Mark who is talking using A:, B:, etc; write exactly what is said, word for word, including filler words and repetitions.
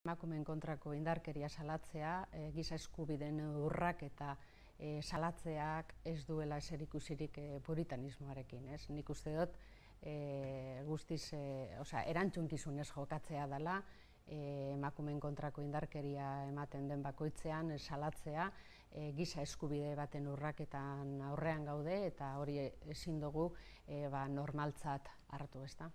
A: Emakumeen kontrako indarkeria salatzea, e, giza eskubideen urrak eta e, salatzeak ez duela eserikusirik e, puritanismoarekin, ez? Nik uste dut e, guztiz, e, osea, erantzunkizunez jokatzea dela, e, emakumeen kontrako indarkeria ematen den bakoitzean e, salatzea, e, giza eskubide baten urraketan aurrean gaude eta hori ezin dugu e, ba, normaltzat hartu, ezta?